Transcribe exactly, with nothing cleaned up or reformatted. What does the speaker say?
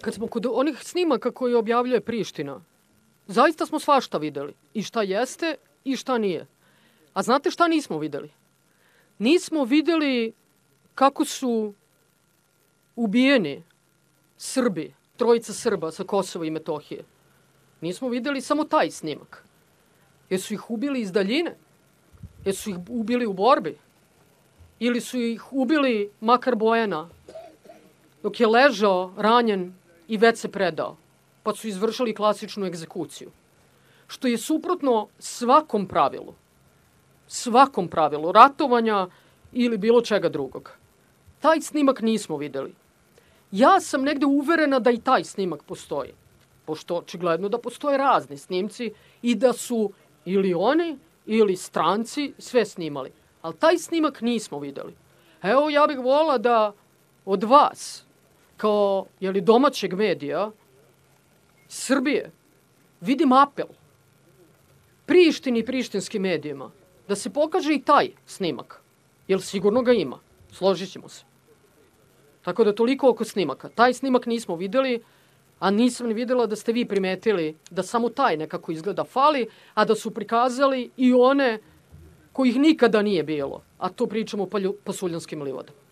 kad smo kod onih snimaka koje objavljuje Priština, zaista smo svašta videli. I šta jeste i šta nije. A znate šta nismo videli? Nismo videli kako su ubijeni Srbi, trojica Srba sa Kosova i Metohije. Nismo videli samo taj snimak. Jesu ih ubili iz daljine? Jesu ih ubili u borbi? Ili su ih ubili makar Bojana dok je ležao ranjen i već se predao, pa su izvršili klasičnu egzekuciju. Što je suprotno svakom pravilu. Svakom pravilu ratovanja ili bilo čega drugog. Taj snimak nismo videli. Ja sam negde uverena da i taj snimak postoji. Pošto očigledno da postoje razni snimci i da su ili oni ili stranci sve snimali. Ali taj snimak nismo videli. Evo, ja bih volila da od vas, kao jeli, domaćeg medija, Srbije, vidim apel Prištini i prištinskim medijima da se pokaže i taj snimak. Jer sigurno ga ima. Složit ćemo se. Tako da toliko oko snimaka. Taj snimak nismo videli, a nisam ni videla da ste vi primetili da samo taj nekako izgleda fali, a da su prikazali i one kojih nikada nije bilo. A to pričamo o pasuljanskim livadama.